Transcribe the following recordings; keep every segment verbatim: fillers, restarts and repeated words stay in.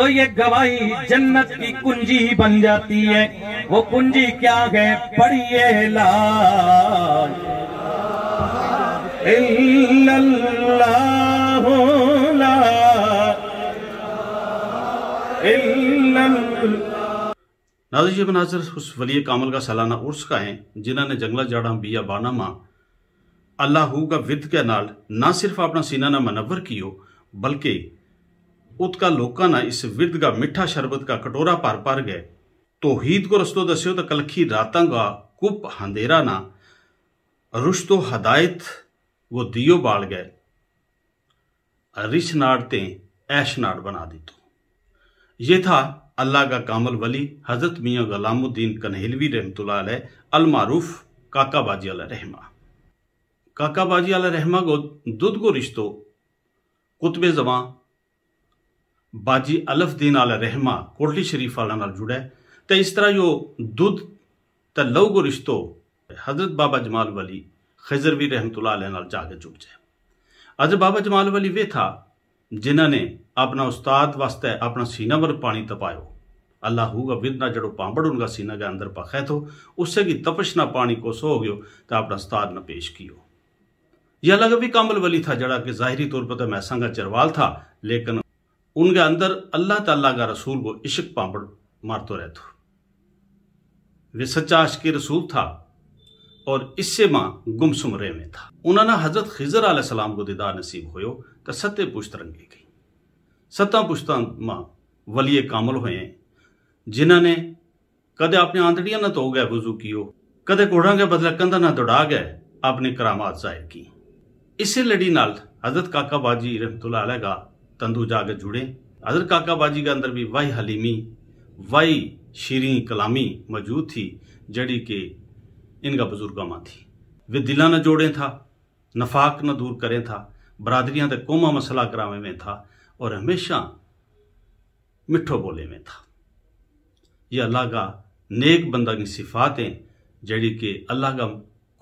تو یہ گواہی جنت کی کنجی بن جاتی ہے۔ وہ کنجی کیا ہے؟ پڑھیے لا الا اللہ، لا الا اللہ۔ ناظرین، یہ مناظر اس ولی کامل کا سالانہ عرس کا ہیں، جنہاں نے جنگلہ جاڑاں بیا بانا ماں اللہ ہو کا ود کے نال نہ صرف اپنا سینہ نہ منور کیو، بلکہ ات کا لوکاں نا اس ود کا مٹھا شربت کا کٹورا پر پر گئے، توحید کو رستو دسیو تو کلکھی راتاں کا کپ ہندیرا نا رشد و ہدایت وہ دیو بال گئے، رچھ ناڑ تے ایش ناڑ بنا دیتو۔ یہ تھا اللہ کا کامل ولی حضرت میاں غلام الدین کنہیلوی رحمت اللہ علیہ، المعروف کاکا باجی علیہ رحمہ۔ کاکا باجی علیہ رحمہ کو دودھ کو رشتو قطب زمان باجی الف دین علیہ رحمہ کوٹلی شریف والا نال جڑے، تے اس طرح یو دودھ تے لو کو رشتو حضرت بابا جمال ولی خضروی رحمت اللہ علیہ نال جا کے جڑ جائے۔ حضرت بابا جمال ولی ویہ تھا جنہاں نے اپنا استاد واسطے اپنا سینہ ور پانی تپایو۔ اللہ ہو کا ودنا جڑو پامبڑ ان کا سینہ کے اندر پخے تھو، اس سے کی تپش نہ پانی کو سو ہو گیو، تے اپنا استاد نہ پیش کیو۔ یہ اللہ کا بھی کامل ولی تھا جڑا کہ ظاہری طور پر تو میساں کا چروال تھا، لیکن ان کے اندر اللہ تعالیٰ کا رسول کو عشق پامبڑ مارتو رہتو۔ وہ سچا عاشق رسول تھا اور اس سے ماں گمسم رہویں تھا۔ انہاں نا حضرت خضر علیہ السلام کو دیدار نصیب ہویو، تو ستے پشت رنگے گئی۔ ستاں پشتاں ماں ولی کامل ہوئے ہیں، جنہاں نے کدے اپنے آندڑیاں نہ تو گئے وضو کیو، کدے کوڑاں کے بدلے کندھا نہ دوڑا گئے، اپنی کرامات ظاہر کی۔ اسے لڑی نال حضرت کاکا باجی رحمت اللہ علیہ کا تندو جا کے جڑے۔ حضرت کاکا باجی کے اندر بھی وائی حلیمی، وائی شیریں کلامی موجود تھی، جڑی کہ ان کا بزرگاں ماں تھی۔ وہ دلاں نہ جوڑیں تھا، نفاق نہ دور کریں تھا، برادریاں تے قوماں مسئلہ کراویں میں تھا، اور ہمیشہ مٹھو بولے میں تھا۔ یہ اللہ کا نیک بندہ کی صفات ہیں، جڑی کہ اللہ کا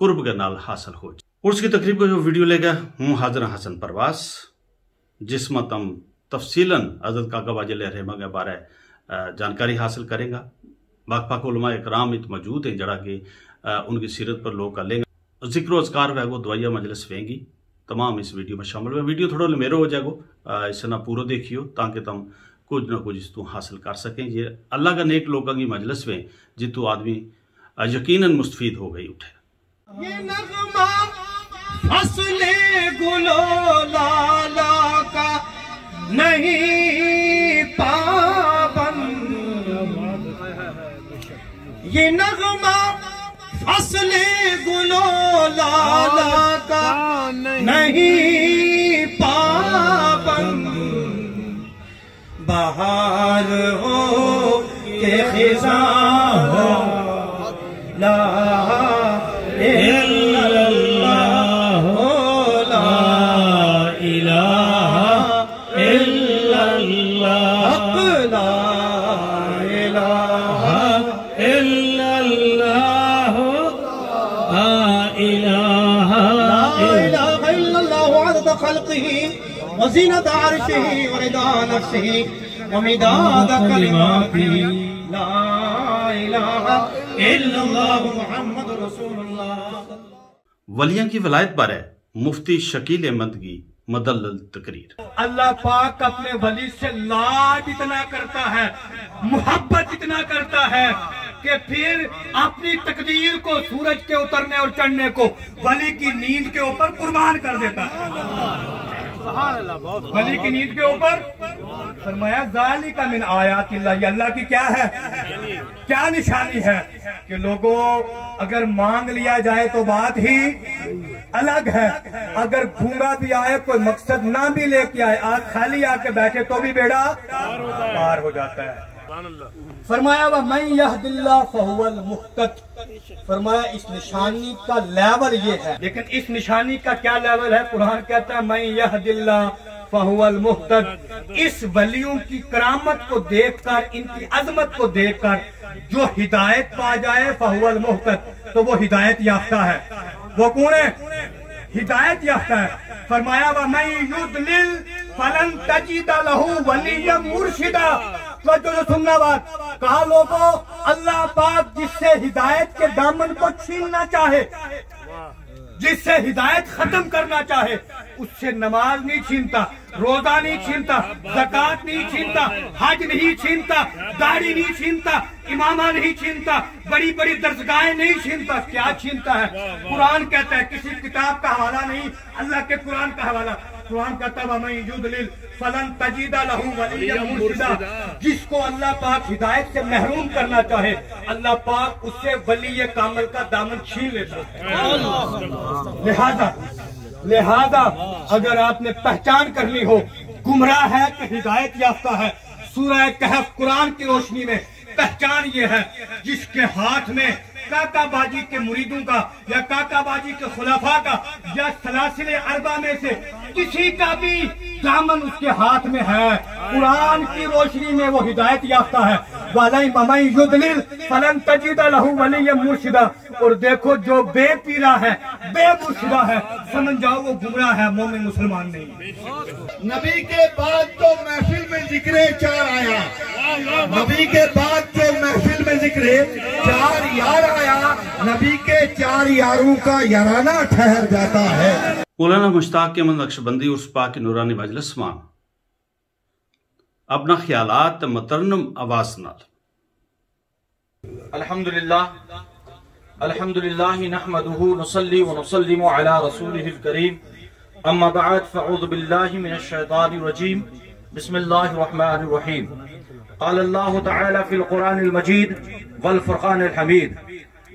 قرب کے نال حاصل ہو جائے۔ عرس کی تقریب کو جو ویڈیو لے گا، ہوں حاضر حسن پرواز، جس ما تم تفصیلاً حضرت کاکا باجی علیہ رحمہ کے بارے جانکاری حاصل کریں گا۔ باقی پاک علماء اکرام ات موجود ہیں، جڑا کہ ان کی سیرت پر لوگ کر لیں گا۔ ذکر و اذکار وہے گو، دعائیہ مجلس وہیں گی۔ تمام اس ویڈیو میں شامل ہوئے۔ ویڈیو تھوڑا لمیرو ہو جائے گو، اس نا پورو دیکھیو تاکہ تم کچھ نہ کچھ اس تو حاصل کر سکیں۔ یہ اللہ کا نیک لوگاں کی مجلس وہیں، جتو آدمی یقیناً مستفید ہو گئی اٹھے۔ یہ نغمہ فصل گل و لالا کا نہیں پابند، یہ نغمہ فصل گل و لالا کا نہیں پابند، بہار ہو کہ خزاں ہو، لا الہ الا اللہ، لا الہ الا اللہ، حق لا الہ الا اللہ، لا الہ، لا الہ الا اللہ عدد خلقہ وزینت عرشہ ورضا نفسہ ومداد کلماتہ، لا الہ الا اللہ محمد رسول اللہ۔ ولیاں کی ولایت بارے مفتی شکیل احمد کی مدلل تقریر۔ اللہ پاک اپنے ولی سے لاڈ اتنا کرتا ہے، محبت اتنا کرتا ہے کہ پھر اپنی تقدیر کو سورج کے اترنے اور چڑھنے کو ولی کی نیند کے اوپر قربان کر دیتا ہے۔ ولی کی نیند کے اوپر فرمایا، ذالک من آیات اللہ، یہ اللہ کی کیا ہے؟ کیا نشانی ہے؟ کہ لوگو، اگر مانگ لیا جائے تو بات ہی الگ ہے، اگر گھوما بھی آئے، کوئی مقصد نہ بھی لے کے آئے، آج خالی آ کے بیٹھے تو بھی بیڑا پار ہو جاتا ہے۔ فرمایا، ومن یہد اللہ فہو المہتد۔ فرمایا، اس نشانی کا لیول یہ ہے۔ لیکن اس نشانی کا کیا لیول ہے؟ قرآن کہتا ہے، من یہد اللہ فہو المہتد۔ اس ولیوں کی کرامت کو دیکھ کر، ان کی عظمت کو دیکھ کر جو ہدایت پا جائے، فہو المہتد، تو وہ ہدایت یافتہ ہے۔ وہ کون ہے؟ ہدایت یافتہ ہے۔ فرمایا، ومن یضلل فلن تجد له ولیا مرشدا۔ توجہ سے سننا بات۔ کہا لوگو، اللہ پاک جس سے ہدایت کے دامن کو چھیننا چاہے، جس سے ہدایت ختم کرنا چاہے، اس سے نماز نہیں چھینتا، روزہ نہیں چھینتا، زکوٰۃ نہیں چھینتا، حج نہیں چھینتا، داڑھی نہیں چھینتا، امامہ نہیں چھینتا، بڑی بڑی درسگاہیں نہیں چھینتا۔ کیا چھینتا ہے؟ قرآن کہتا ہے، کسی کتاب کا حوالہ نہیں، اللہ کے قرآن کا حوالہ۔ قرآن کہتا ہے، ومن یضلل فلن تجد له ولیا مرشدا۔ جس کو اللہ پاک ہدایت سے محروم کرنا چاہے، اللہ پاک اس سے ولی کامل کا دامن چھین لیتا ہے۔ لہذا، لہذا اگر آپ نے پہچان کرنی ہو، گمراہ ہے کہ ہدایت یافتہ ہے، سورہ کہف قرآن کی روشنی میں پہچان یہ ہے، جس کے ہاتھ میں کاکا باجی کے مریدوں کا یا کاکا باجی کے خلفاء کا یا سلاسل اربعہ میں سے کسی کا بھی دامن اس کے ہاتھ میں ہے، قرآن کی روشنی میں وہ ہدایت یافتہ ہے۔ وَلَن، وَمَن يُضْلِلْ فَلَن تَجِدَ لَهُ وَلِيًّا مُرْشِدًا۔ اور دیکھو، جو بے پیرا ہے، بے مرشدہ ہے، سمجھ جاؤ وہ گمراہ ہے، مومن مسلمان نہیں۔ نبی کے بعد تو محفل میں ذکر چار آیا، نبی کے بعد تو محفل میں ذکر چار یار آیا، نبی کے چار یاروں کا یارانہ ٹھہر جاتا ہے۔ مولانا مشتاق احمد نقشبندی عرس پاک نورانی مجلس ما اپنا خیالات تے مترنم آواز نال۔ الحمدللہ، الحمدللہ، نحمده ونصلي ونسلم على رسوله الكريم. أما بعد، فأعوذ بالله من الشيطان الرجيم. بسم الله الرحمن الرحيم. قال الله تعالى في القرآن المجيد والفرقان الحميد: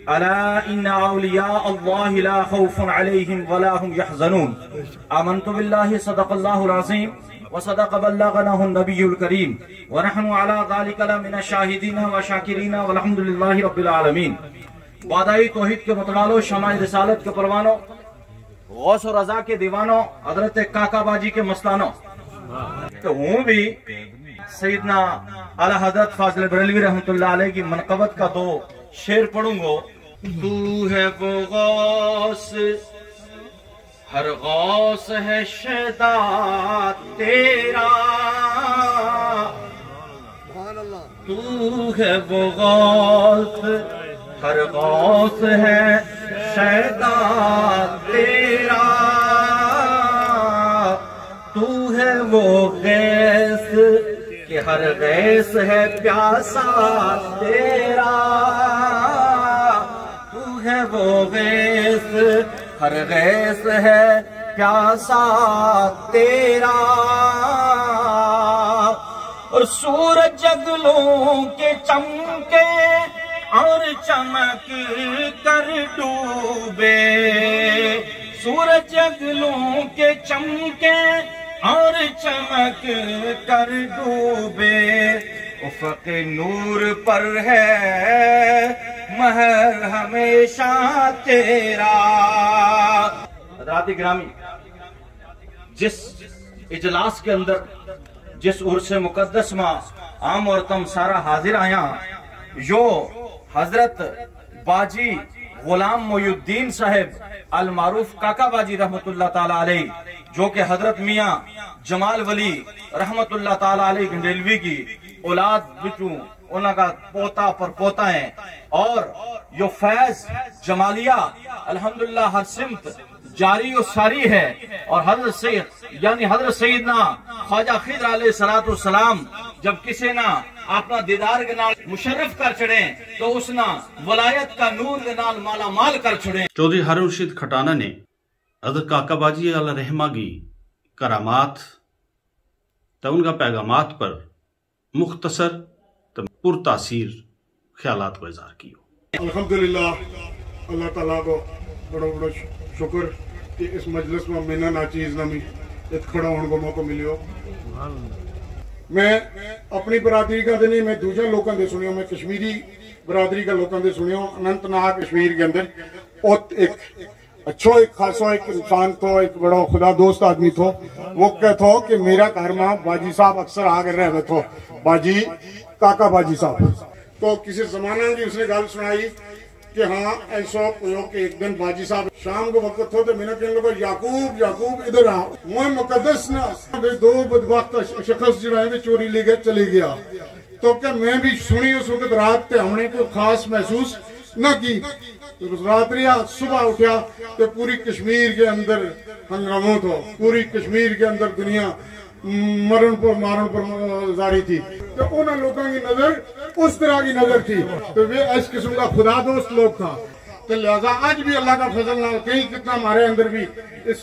ألا إن أولياء الله لا خوف عليهم ولا هم يحزنون. آمنت بالله، صدق الله العظيم، وصدق بلغناه النبي الكريم، ونحن على ذلك لمن الشاهدين والشاكرين، والحمد لله رب العالمين. وعدہ توحید کے متوالو، شمع رسالت کے پروانو، غوث و رضا کے دیوانو، حضرت کاکا باجی کے مستانو، تو ہوں بھی سیدنا اعلیٰ حضرت فاضل بریلوی رحمت اللہ علیہ کی منقبت کا دو شعر پڑھوں گو۔ تو ہے وہ غوث، ہر غوث ہے شیدا تیرا۔ تو ہے وہ غوث، ہر غوث ہے شیدا تیرا۔ تو ہے وہ غیث کہ ہر غیث ہے پیاسا تیرا۔ تو ہے وہ غیث، ہر غیث ہے پیاسا تیرا۔ اور سورج اگلوں کے چمکے اور چمک کر ڈوبے، سورج اگلوں کے چمکے اور چمک کر ڈوبے، افق نور پر ہے مہر ہمیشہ تیرا۔ حضرات گرامی، جس اجلاس کے اندر، جس عرس مقدس ما ہم اور تم سارا حاضر آیا، یو حضرت باجی غلام محی الدین صاحب المعروف کاکا باجی رحمت اللہ تعالی علیہ، جو کہ حضرت میاں جمال ولی رحمت اللہ تعالی علیہ گنڈیلوی کی اولاد بچوں انہاں کا پوتا پر پوتا ہیں، اور یو فیض جمالیہ الحمدللہ ہر سمت جاری و ساری ہے۔ اور حضرت سید، یعنی حضرت سیدنا خواجہ خضر علیہ الصلوۃ والسلام جب کسے نا اپنا دیدار کے نال مشرف کر چھڑیں تو اس نا ولایت کا نور کے نال مالا مال کر چھڑیں۔ چوہدری ہارون رشید کھٹانہ نے حضرت کاکا باجی علیہ رحمہ کی کرامات تے ان کا پیغامات پر مختصر تے پر تاثیر خیالات کو اظہار کیو۔ الحمدللہ، اللہ تعالیٰ کو بڑو بڑو شکر کہ اس مجلس ما مینا ناچیز نا می ات کھڑا ہون کو موقع ملیو۔ میں اپنی برادری کا دے نہیں، میں دوجا لوکاں دے سنیو، میں کشمیری برادری کا لوکاں دے سنیو۔ اننت ناگ کشمیر کے اندر ات ایک اچھو ایک خاصو ایک انسان تھو، ایک بڑو خدا دوست آدمی تھو۔ وہ کہتو کہ میرا گھر ما باجی صاحب اکثر آ کے رہوے تھو، باجی، کاکا باجی صاحب۔ تو کسی زمانے کی اس نے گل سنائی کہ ہاں، ایسو ہویو کہ ایک دن باجی صاحب شام کو وقت تھو تو مینا کہنے لگا، یعقوب، یعقوب، ادھر آ۔ موئے مقدس نا دو بدبخت شخص جڑا ہے، وہ چوری لے گیا، چلے گیا۔ تو کہ میں بھی سنی اس وقت رات تے ہم نے کوئی خاص محسوس نہ کی۔ رات رہیا، صبح اٹھیا تو پوری کشمیر کے اندر ہنگامو تھو، پوری کشمیر کے اندر دنیا مرن پر مارن پر جاری تھی۔ تو انہاں لوکاں کی نظر اس طرح کی نظر تھی۔ تو وہ اس قسم کا خدا دوست لوگ تھا۔ تو لہذا اج بھی اللہ کا فضل نال کہیں کتنا ہمارے اندر بھی اس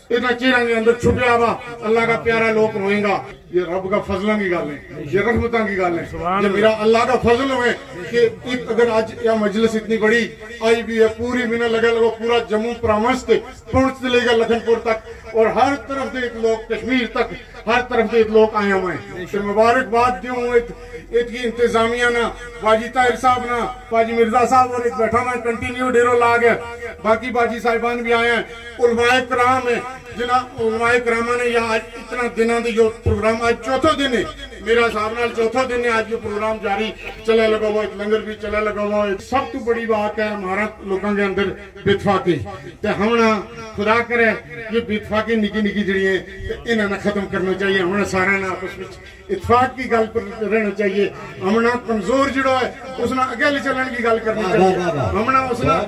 اتنا چہراں کے اندر چھپیا ہوا اللہ کا پیارا لوگ ہوئیں گا۔ یہ رب کا فضلاں کی گل ہے، یہ رحمتاں کی گل ہے، یہ میرا اللہ کا فضل ہوئے کہ ات- اگر اج یہ مجلس اتنی بڑی آئی بھی ہے، پوری منا لگا لگا پورا جموں پرامنس تے پہنچ لے گا لکھن پور تک، اور ہر طرف دے ایک لوگ کشمیر تک، ہر طرف دے ایک لوگ آئے ہوئے ہیں۔ تو مبارکباد دیوں ہوں ات- ات کی انتظامیہ نا، باجی طاہر صاحب نا، باجی مرزا صاحب اور ایک بیٹھا میں کنٹینیو ڈیرو لاگ ہے، باقی باجی صاحبان بھی آئے ہیں، علماء کرام ہیں، جنہاں علماء کراماں نے یہاں اج اتنا دناں دے یوہ پروگرام، اج چوتھو دن ہے، میرا حساب نال چوتھو دن ہے، اج یوہ پروگرام جاری چلے لگا ہوا ہے، لنگر بھی چلے لگا ہوا ہے۔ سب تو بڑی بات ہے ہمارا لوکاں کے اندر بے اتفاقی۔ تے ہمنا خدا کرے یہ بے اتفاقی نکی نکی جڑی ہیں، تے انہاں نا ختم کرنا چاہیے۔ ہمنا سارا نا آپس وچ اتفاق کی گل پر رہنا چاہیے۔ ہمنا کمزور جڑا ہے، اس نا اگے لے چلن کی گل کرنی چاہیے۔ ہمنا اس نا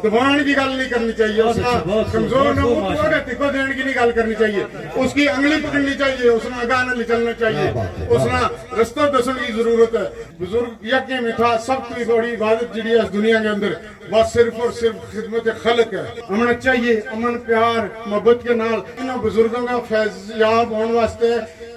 دبان کی گل نہیں کرنی چاہیے۔ اس نا کمزور نا وہ تو اگے تکو دین کی نہیں گل کرنی چاہیے۔ اس کی انگلی پکڑنی چاہیے، اس نا اگاں نہ لے چلنا چاہیے، اس نا رستہ دسن کی ضرورت ہے۔ بزرگ یکے میں تھا، سب تو بڑی عبادت جڑی ہے اس دنیا کے اندر، بس صرف اور صرف خدمت خلق ہے۔ ہمنا چاہیے امن، پیار، محبت کے نال انہاں بزرگاں کا فیض یاب ہون واسطے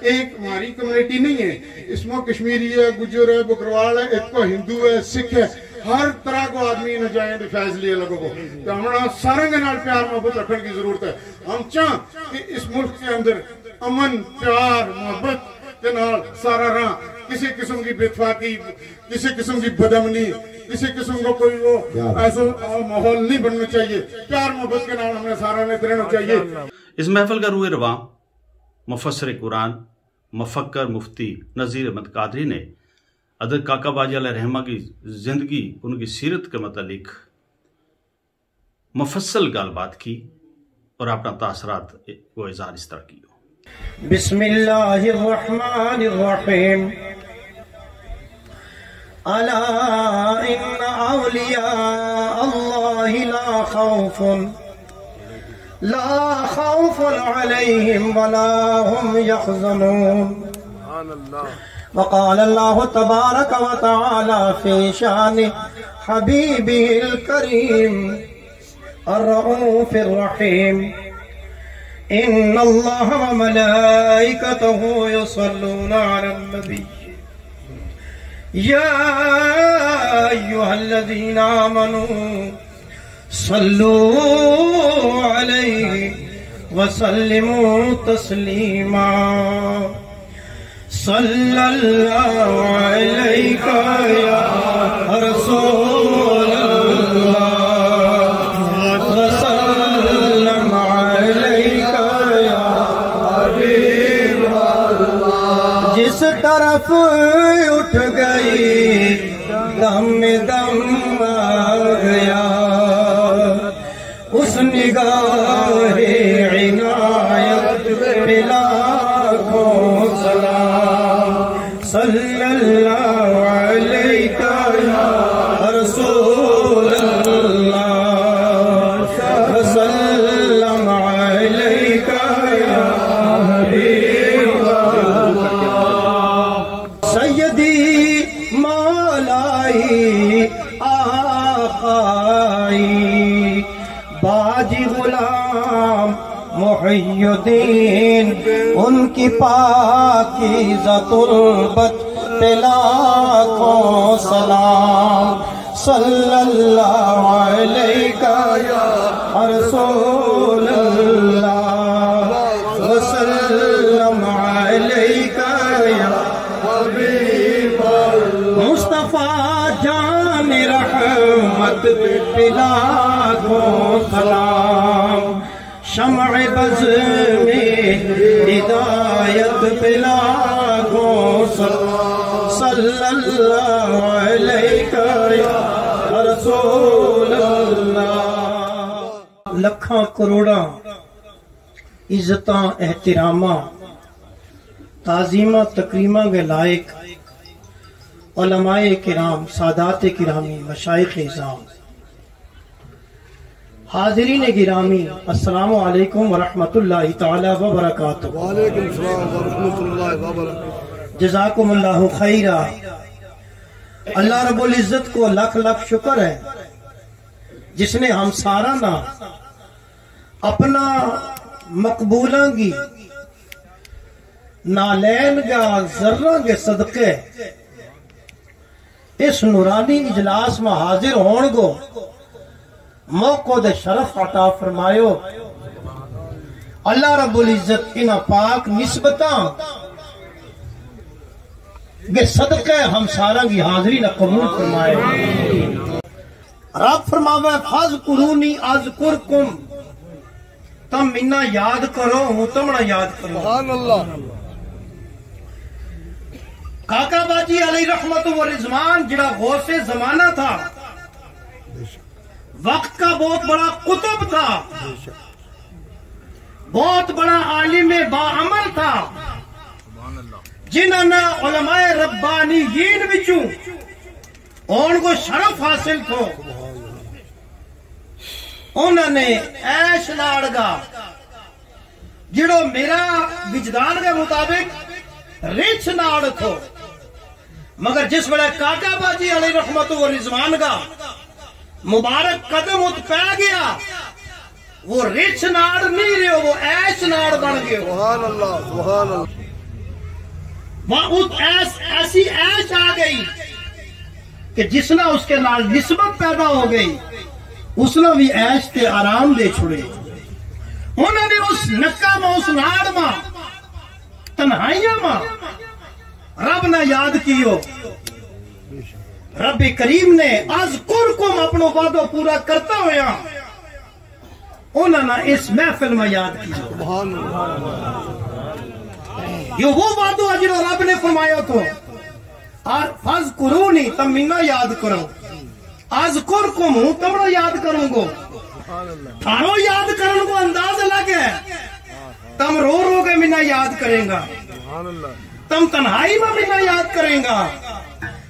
ایک ہماری کمیونٹی نہیں ہے، اس میں کشمیری ہے، گجر ہے، بکروال ہے، ایک کو ہندو ہے، سکھ ہے، ہر طرح کو آدمی نہ جائیں تو فیض لیے لگو کو۔ تو ہمنا سارا کے نال پیار محبت رکھن کی ضرورت ہے۔ ہم چاہ کہ اس ملک کے اندر امن، پیار، محبت کے نال سارا رہاں، کسی قسم کی بے اتفاقی، کسی قسم کی بدامنی، کسی قسم کو کوئی وہ ایسا ماحول نہیں بننا چاہیے۔ پیار محبت کے نال ہمنا سارا نے رہنا چاہیے۔ اس محفل کا روئے رواں مفسر قرآن، مفکر مفتی نذیر احمد قادری نے حضرت کاکا باجی علیہ رحمہ کی زندگی، ان کی سیرت کے متعلق مفصل گل بات کی اور اپنا تاثرات کو اظہار اس طرح کیو۔ بسم اللہ الرحمن الرحیم۔ الا ان اولیاء اللہ لا خوف، لا خوف علیہم ولا هم يحزنون۔ وقال الله تبارك وتعالى في شان حبيبه الكريم الرؤوف الرحيم، إن الله وملائكته يصلون على النبي، يا أيها الذين آمنوا صلوا عليه وسلموا تسليما۔ صلى الله عليك يا رسول الله، وسلم عليك يا حبيب الله۔ جس طرف اٹھ گئی، دم دم آ گیا۔ اس نگاہ عنایت پہ لاکھوں سلام۔ صلی اللہ علیک یا رسول اللہ، وسلم علیک یا حبیب اللہ۔ سیدی مولائی آقائی، باجی غلام محی الدین، ان کی پاکیزہ تربت پہ لاکھوں سلام۔ صلی اللہ علیک یا رسول اللہ، وسلم علیک یا حبیب اللہ۔ مصطفی جان رحمت پہ لاکھوں سلام، شمع بزم ہدایت پہ لاکھوں سلام۔ صلی اللہ علیک یا رسول رسول اللہ۔ لکھاں کروڑاں عزتاں، احتراماں، تعظیماں، تکریماں کے لائق علماء کرام، سادات کرامی، مشائخ عظام، حاضرین گرامی، السلام علیکم ورحمۃ اللہ تعالی وبرکاتہ۔ وعلیکم السلام ورحمۃ اللہ وبرکاتہ۔ جزاکم اللہ خیرا۔ اللہ رب العزت کو لکھ لکھ شکر ہے، جس نے ہم سارا نا اپنا مقبولاں کی نالین کا ذراں کے صدقے اس نورانی اجلاس ما حاضر ہون کو موقع دے شرف عطا فرمایو۔ اللہ رب العزت انہاں پاک نسبتاں کے صدقے ہم ساراں کی حاضری نا قبول فرمائے۔ رب فرماوے، "فاذکرونی اذکرکم"، تم منا یاد کرو، ہوں تمنا یاد کروں۔ سبحان اللہ۔ کاکا باجی علیہ رحمت و رضوان جڑا غوث زمانہ تھا، وقت کا بہت بڑا قطب تھا، بہت بڑا عالم باعمل تھا، جنہاں نا علماء ربانیین وچوں ہون کو شرف حاصل تھو۔ انہاں نے ایش ناڑ گا، جڑو میرا وجدان کے مطابق رچھ ناڑ تھو، مگر جس ویلے کاکا باجی علیہ رحمت و رضوان کا مبارک قدم ات پہ گیا، وہ رچھ ناڑ نہیں رہیو، وہ ایش ناڑ بن گیو۔ سبحان اللہ، سبحان اللہ۔ وہ ات ایس، ایسی ایش آ گئی کہ جس نا اس کے نال نسبت پیدا ہو گئی، اس نا بھی ایش تے آرام دے چھڑے۔ انہاں نے اس نکا ما، اس ناڑ ما، تنہائیاں ما رب نا یاد کیو۔ رب کریم نے اذکرکم اپنو وعدو پورا کرتا ہویا انہاں نا اس محفل ما یاد کیو۔ سبحان اللہ۔ یہ وہ وعدو ہے جنہوں رب نے فرمایا تھو، اور فاذکرونی، تم منا یاد کرو، اذکرکم، ہوں تمنا یاد کروں گو۔ تھارو یاد کرن کو انداز الگ ہے۔ تم رو رو کے منا یاد کریں گا۔ تم تنہائی ما منا یاد کریں گا۔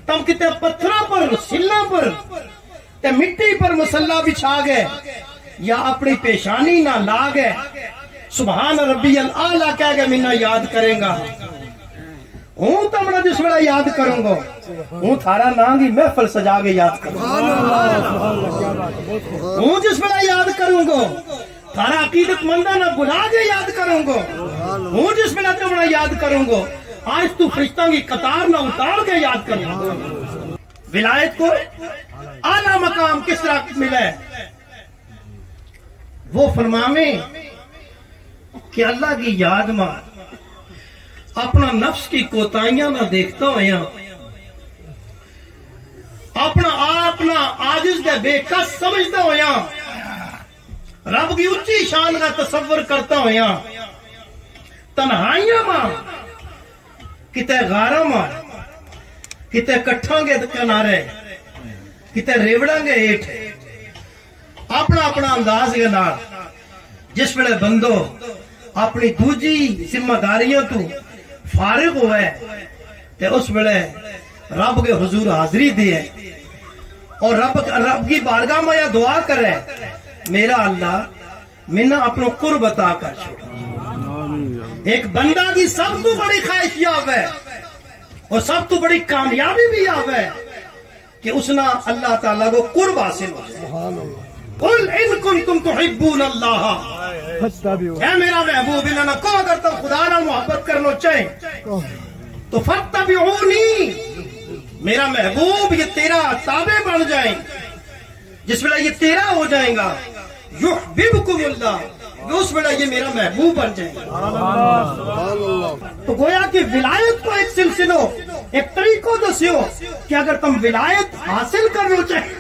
تم کتے پتھراں پر، سلاں پر، تے مٹی پر مصلا بچھا گئے یا اپنی پیشانی نا لا گئے، سبحان ربی الاعلیٰ کہہ کے منا یاد کریں گا۔ ہوں تمنا جس ویلے یاد کروں گو، ہوں تھارا ناں کی محفل سجا کے یاد کروں گو۔ ہوں جس ویلے یاد کروں گو، تھارا عقیدت منداں نا بلا کے یاد کروں گو۔ ہوں جس ویلے تمنا یاد کروں گو، آج تو فرشتاں کی قطار نا اتار کے یاد کروں گو۔ ولایت کو اعلیٰ مقام کس طرح ملا ہے؟ وہ فرماویں کہ اللہ کی یاد ما اپنا نفس کی کوتاہیاں نا دیکھتا ہویا، اپنا آپ نا عاجز دے بے کس سمجھتا ہویا، رب کی اچی شان کا تصور کرتا ہویا، تنہائیاں ما، کتے غاراں ما، کتے کٹھاں کے کنارے، کتے ریوڑاں کے ہیٹھ، اپنا اپنا انداز کے نال جس ویلے بندو اپنی دوجی ذمہ داریاں تو فارغ ہوئے، تے اس ویلے رب کے حضور حاضری دے، اور رب، رب کی بارگاہ ما یا دعا کرے، میرا اللہ، منا اپنو قرب عطا کر چھوڑ۔ ایک بندہ کی سب تو بڑی خواہش یہ ہوئے، اور سب تو بڑی کامیابی بھی یہ ہوئے کہ اس نا اللہ تعالیٰ کو قرب حاصل ہو جائے۔ قل ان کنتم تحبون اللہ، اے میرا محبوب، انہاں نا کہو اگر تم خدا نال محبت کرنو چاہیں تو فاتبعونی، میرا محبوب یہ تیرا تابع بن جائیں۔ جس ویلے یہ تیرا ہو جائیں گا، یحببکم اللہ، اس ویلے یہ میرا محبوب بن جائیں گا۔ تو گویا کہ ولایت کو ایک سلسلو، ایک طریقو دسیو کہ اگر تم ولایت حاصل کرنو چاہیں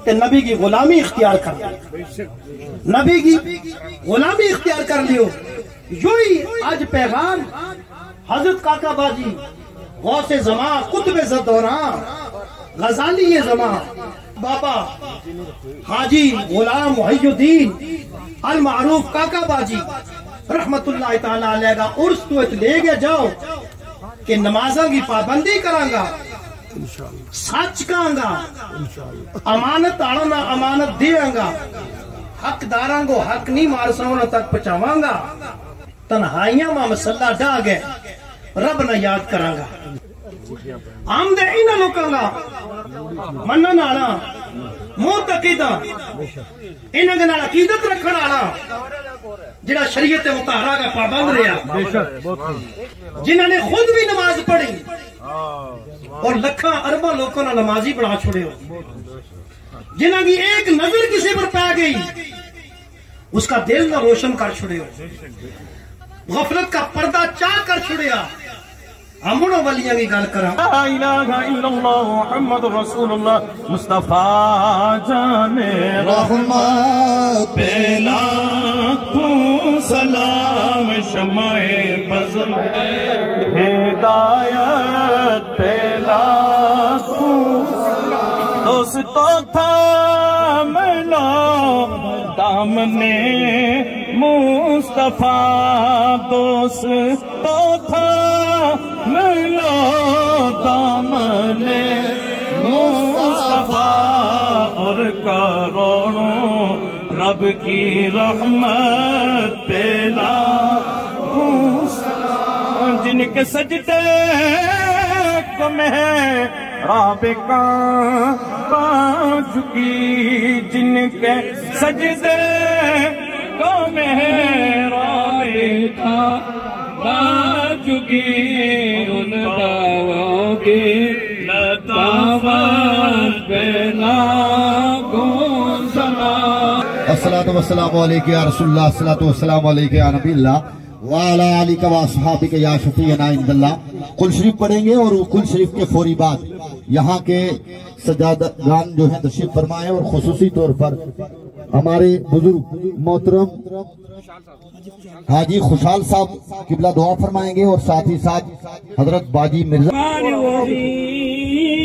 تو نبی کی غلامی اختیار کر لو، نبی کی غلامی اختیار کر لیو۔ یوہی اج پیغام حضرت کاکا باجی، غوث زمان، قطب زدوراں، غزالی زمان، بابا حاجی غلام محی الدین المعروف کاکا باجی رحمت اللہ تعالی علیہ کا عرس تو ات لے گیا جاؤ، کہ نمازاں کی پابندی کراں گا، سچ کہاں گا، امانت آڑاں نا امانت دیاں گا، حق داراں کو حق نہیں مارساں انہاں تک پہنچاواں گا۔ تنہائیاں ما مسلح ڈا گئے، رب نا یاد کراں گا۔ ہم دے انہاں لوکاں گا منن آڑا، معتقداں، انہاں کے نال عقیدت رکھن آڑا، جڑا شریعت مطہرہ کا پابند رہیا، جنہاں نے خود بھی نماز پڑھی اور لکھاں ارباں لوکاں نا نمازی بنا چھوڑے ہو، جنہاں کی ایک نظر کسی پر پی گئی، اس کا دل نہ روشن کر چھڑیو، غفلت کا پردہ چاہ کر چھڑیا۔ ہمڑو ولیاں کی گل کراں۔ لا الہ الا اللہ محمد رسول اللہ مصطفیٰ جان رحمت پہ لاکھوں سلام، شمع بزم ہدایت پہ لاکھوں سلام۔ دوستو تھاملو دامن مصطفیٰ، دوستو تھاملو دامن مصطفیٰ، اور کروڑوں رب کی رحمت پہ لاکھوں سلام۔ جن کے سجدے کو میں رابقہ پا چکی، جن کے سجدے کو میں رابقہ پا چکی، ان دعووں کی لطافت پہ لاکھوں سلام۔ الصلاۃ والسلام علیک یا رسول اللہ، الصلاۃ والسلام علیک یا نبی اللہ، وعلی آلک و اصحابک یا شفیعنا عند اللہ۔ کل شریف پڑھیں گے اور کل شریف کے فوری بعد یہاں کے سجادگان جو ہیں تشریف فرمائے، اور خصوصی طور پر ہمارے بزرگ محترم حاجی خوشحال صاحب قبلہ دعا فرمائیں گے، اور ساتھ ہی ساتھ حضرت باجی مرزا۔ الرحمن الرحیم۔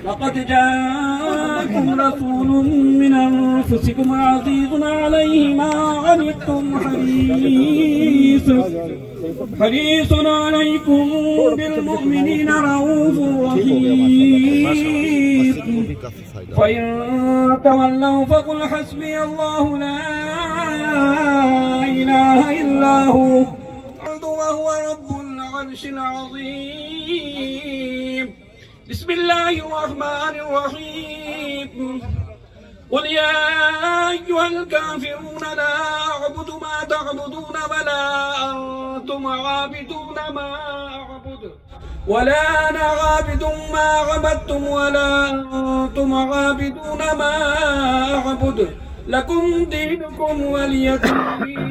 لقد جاءكم رسول من أنفسكم عزيز عليه ما عنتم حريص، حريص عليكم بالمؤمنين رؤوف رحيم. فإن تولوا فقل حسبي الله لا إله إلا هو، وهو رب العرش العظيم. بسم الله الرحمن الرحيم. قل يا أيها الكافرون لا أعبد ما تعبدون ولا أنتم عابدون ما أعبد، ولا أنا عابد ما عبدتم ولا أنتم عابدون ما أعبد، لكم دينكم ولي دين.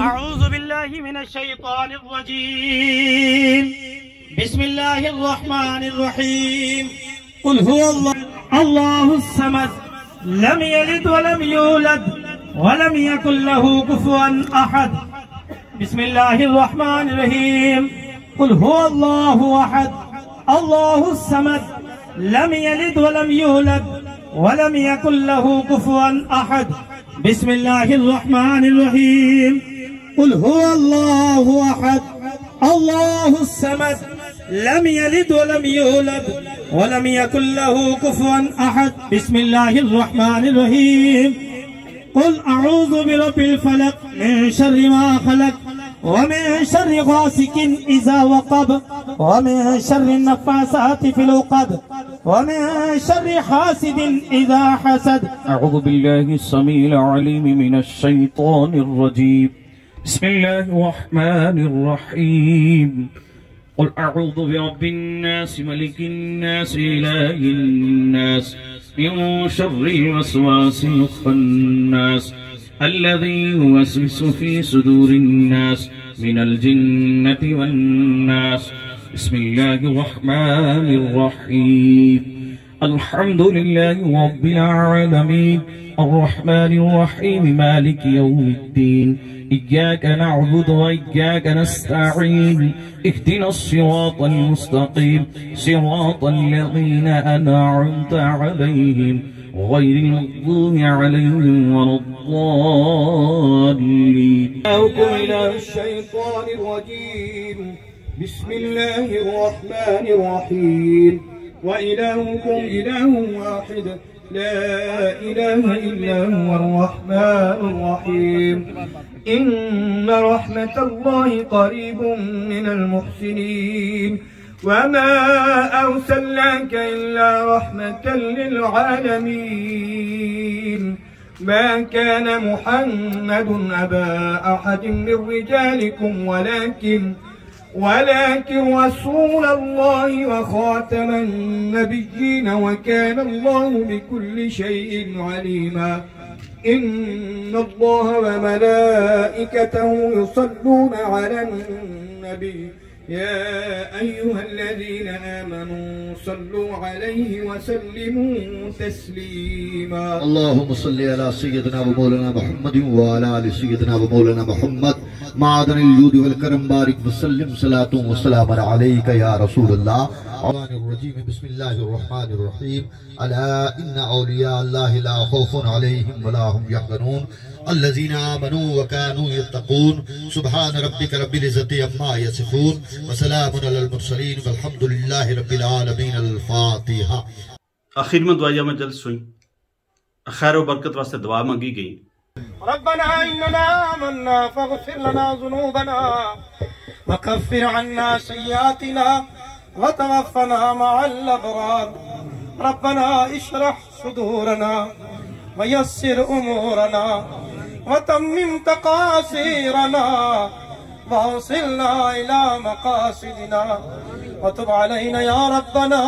أعوذ بالله من الشيطان الرجيم. بسم الله الرحمن الرحيم. قل هو الله، الله الصمد، لم يلد ولم يولد، ولم يكن له كفوا أحد. بسم الله الرحمن الرحيم. قل هو الله أحد، الله الصمد، لم يلد ولم يولد، ولم يكن له كفوا أحد. بسم الله الرحمن الرحيم. قل هو الله أحد، الله الصمد، لم يلد ولم يولد، ولم يكن له كفوا أحد. بسم الله الرحمن الرحيم. قل أعوذ برب الفلق، من شر ما خلق، ومن شر غاسق إذا وقب، ومن شر النفاثات في العقد، ومن شر حاسد إذا حسد. أعوذ بالله السميع العليم من الشيطان الرجيم. بسم الله الرحمن الرحيم. قل أعوذ برب الناس، ملك الناس، إله الناس، من شر الوسواس الخناس، الذي يوسوس في صدور الناس، من الجنة والناس. بسم الله الرحمن الرحيم. الحمد لله رب العالمين، الرحمن الرحيم، مالك يوم الدين، إياك نعبد وإياك نستعين، اهدنا الصراط المستقيم، صراط الذين أنعمت عليهم، غير المغضوب عليهم ولا الضالين. الشيطان الرجيم. بسم الله الرحمن الرحيم. وإلهكم إله واحد، لا إله إلا هو الرحمن الرحيم. إن رحمة الله قريب من المحسنين. وما أرسلناك إلا رحمة للعالمين. ما كان محمد أبا أحد من رجالكم ولكن، ولكن رسول الله وخاتم النبيين وكان الله بكل شيء عليما. إن الله وملائكته يصلون على النبي، يا أيها الذين آمنوا صلوا عليه وسلموا تسليما. اللهم صل على سيدنا ومولانا محمد وعلى آل سيدنا ومولانا محمد، معدن الجود والكرم، بارك وسلم، صلاة وسلام عليك يا رسول الله. الرحمن الرحيم. بسم الله الرحمن الرحيم. ألا إن أولياء الله لا خوف عليهم ولا هم يحزنون. الذين آمنوا وكانوا يتقون. سبحان ربك رب العزة عما يصفون. وسلام على المرسلين والحمد لله رب العالمين. الفاتحة. آخر ما دعائیہ مجلس ہوئی۔ خیر و برکت واسطے دعا منگی گئی۔ ربنا إننا آمنا فاغفر لنا ذنوبنا وكفر عنا سيئاتنا وتوفنا مع الأبرار. ربنا اشرح صدورنا ويسر أمورنا وتمم تقاصيرنا وأوصلنا إلى مقاصدنا وتب علينا يا ربنا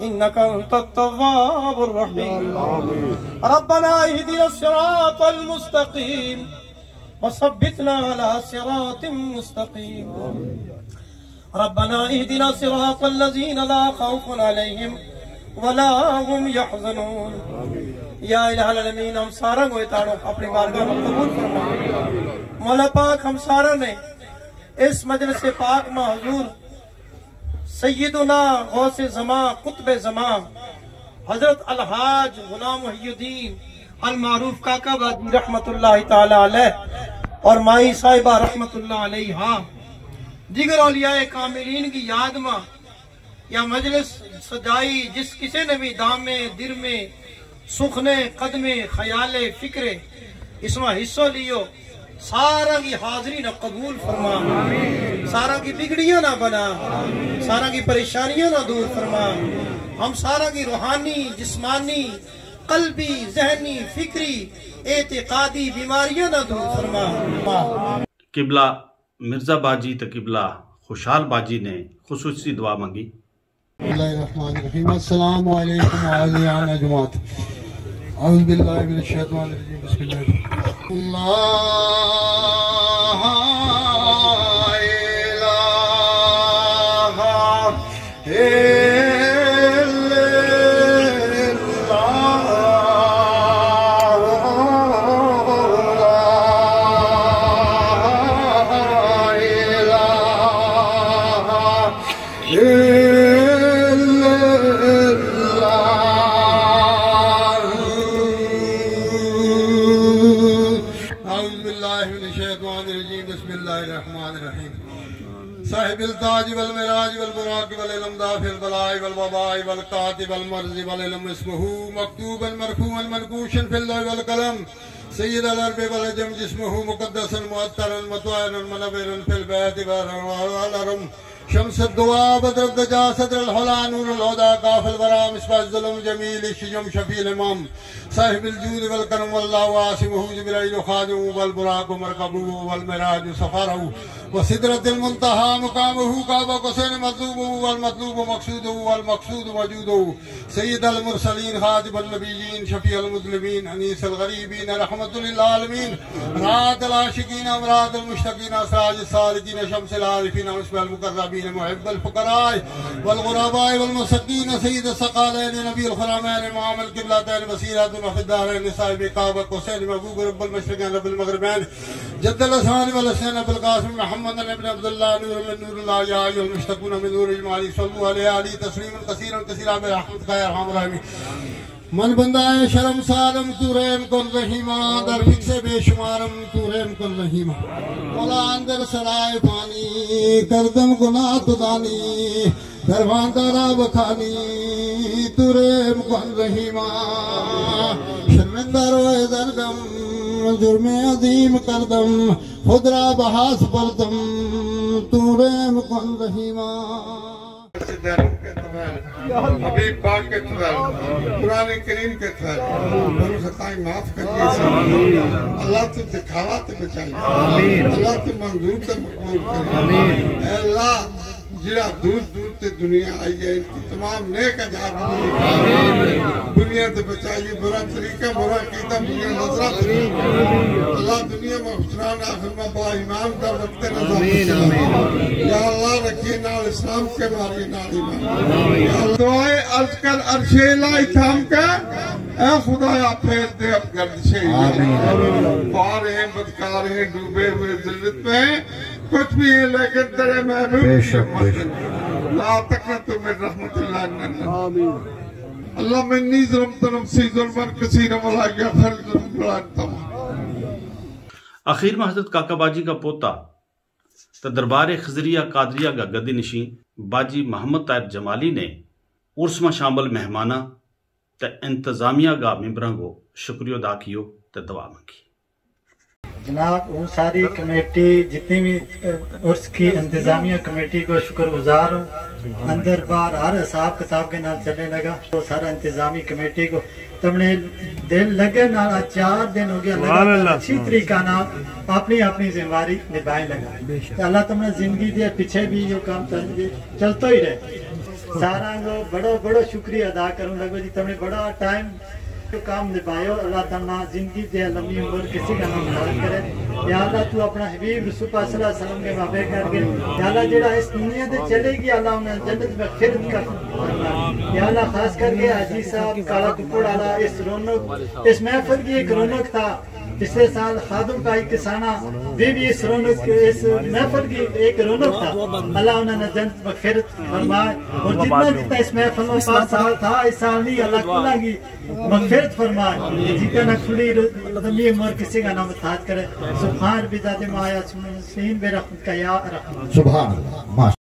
إنك أنت التواب الرحيم. ربنا اهدنا الصراط المستقيم وثبتنا على صراط مستقيم. ربنا اهدنا صراط الذين لا خوف عليهم ولا هم يحزنون. یا الہ العالمین، ہم سارا کو اتارو اپنی بارگاہ میں قبول فرما۔ مولا پاک، ہم سارا نے اس مجلس پاک میں حضور سیدنا غوث زمان، قطب زمان، حضرت الحاج غلام محی الدین المعروف کاکا بادی رحمت اللہ تعالی علیہ اور مائی صاحبہ رحمت اللہ علیہ، دیگر اولیاء کاملین کی یاد ما یا مجلس سجائی، جس کسے نے بھی دامے درمے سخنے قدمے خیالے فکرے اس ما حصو لیو، سارا کی حاضری نا قبول فرما، سارا کی بگڑیاں نا بنا، سارا کی پریشانیاں نا دور فرما، ہم سارا کی روحانی، جسمانی، قلبی، ذہنی، فکری، اعتقادی بیماریاں نا دور فرما۔ قبلہ مرزا باجی تے قبلہ خوشحال باجی نے خصوصی دعا منگی۔ بسم اللہ الرحمن الرحیم۔ السلام علیکم عالیان جماعت۔ اعوذ باللہ من الشیطان الرجیم۔ بسم اللہ۔ لا الہ الا اللہ۔ لا الہ الا اللہ۔ اعوذ باللہ من الشیطان الرجیم۔ بسم اللہ الرحمن الرحیم۔ صاحب التاج والمعراج والبراق والعلم دافع البلاء والوباء والقاتب المرض والعلم اسمه مكتوبا مرفوعا منقوشا في اللوح والقلم۔ سید العرب والعجم جسمه مقدسا معطرا مطهرا منورا في البيت والحرم۔ شمس الدعاء بدر الدجا صدر الحلا نور الهدى کاف الورا مصباح الظلم جمیل الشجم شفیع الامم۔ صاحب الجود والکرم واللہ عاصمہ جبرائیل خادمہ والبراق مرکبہ والمعراج سفرہ وسدرۃ المنتہی مقامہ قاب قوسین مطلوبہ والمطلوب مقصودہ والمقصود موجودہ۔ سید المرسلین خاتم النبیین شفیع المذنبین انیس الغریبین رحمۃ للعالمین راحت العاشقین امراض المشتاقین سراج السالکین شمس العارفین مصباح المقربین۔ محب الفقراء والغرباء والمساكين سيد الثقلين نبي الحرمين امام القبلتين وسيلتنا في الدارين صاحب قاب قوسين محبوب رب المشرقين رب المغربين جد الحسن والحسين ابو القاسم محمد بن عبد الله نور من نور الله يا ايها المشتقون من نور اجمالي صلوا عليه عليه تسليما كثيرا كثيرا برحمتك يا ارحم الراحمين. من بندہ ہے شرم سالم تو رحم کن رحیمہ، در فکس بے شمارم تو رحم کن رحیمہ۔ مولا اندر سرائے پانی کردم گناہ تو دانی، درواندہ را بخانی تو رحم کن رحیمہ۔ شرمندہ روئے درگم جرم عظیم کردم، خود را بحاث بردم تو رحم کن رحیمہ۔ حبیب پاک کے تھوڑا، قرآن کریم کے تھوڑا، بھلو خطائیں معاف کر دیے سن۔ اللہ تو دکھاوا تے بچائی، اللہ تو منظور تے مقبول کر۔ اے اللہ، جڑا دور دور تے دنیا آئی ہے، ان کی تمام نیک اجار دنیا تے بچائی۔ برا طریقہ، برا کیتا، برا نظرہ تے۔ اللہ دنیا میں حسنان آخر میں با ایمان دا وقت نظر۔ یا اللہ، رکھیے نال اسلام کے، ماریے نال ایمان۔ یا اللہ، دعائے عرض کر عرش الہی تھام کے، اے خدایا پھیر دے اب گردشے۔ بار ہیں، بدکار ہیں، ڈوبے ہوئے ذلت میں، کچھ بھی ہیں لیکن تیرے محبوب بے شک، بے شک۔ لا تقنطوا من رحمت اللہ۔ اللہ، من انی ظلمت نفسی ظلما کثیرا ولا یغفر الذنوب الا انت۔ آخر ما حضرت کاکا باجی کا پوتا تے دربار خضریہ قادریہ کا گدی نشین باجی محمد طاہر جمالی نے عرس ما شامل مہماناں تے انتظامیہ کا ممبراں کو شکریہ ادا کیو تے دعا منگی۔ جناب، ہوں ساری کمیٹی، جتنی بھی، اہ، عرس کی انتظامیہ کمیٹی کو شکر گزار ہوں۔ اندر باہر ہر حساب کتاب کے نال چلنے لگا، تو سارا انتظامی کمیٹی کو تم نے دل لگے نال آج چار دن ہو گیا، لگاتار اچھی طریقہ نال اپنی اپنی ذمہ داری نبھائیں لگا۔ تو اللہ تم نے زندگی دے، پچھے بھی یہ کام چل، چلتو ہی رہے۔ سارا کو بڑو بڑو شکریہ ادا کروں لگو جی، تم نے بڑا ٹائم کام نبھایو۔ اللہ تعالیٰ زندگی دے، لمبی عمر کسی کا نام یاد کرے۔ یا اللہ، تو اپنا حبیب رسول پاک صلی اللہ علیہ وسلم کے مابے کر کے، یا اللہ، جڑا اس دنیا دے چلے گی، اللہ انہیں جنت میں خدمت کر۔ یا اللہ، خاص کر کے حاجی صاحب کالا کپڑ والا، اس رونق، اس محفل کی ایک رونق تھا۔ پچھلے سال خادم کا ایک کسانہ بھی، بھی اس رونق، اس محفل کی ایک رونق تھا۔ اللہ انہوں نے جنت مغفرت فرمائے۔ اور جتنا جتنا اس محفل میں پانچ سال تھا، اس سال نہیں، اللہ تعالیٰ کی مغفرت فرمائے۔ جتنا نہ کھلی لمبی عمر کسی کا نام تاج کرے۔ سبحان ربی ذات ما آیا سین بے رحمت کا یا رحمت۔ سبحان اللہ۔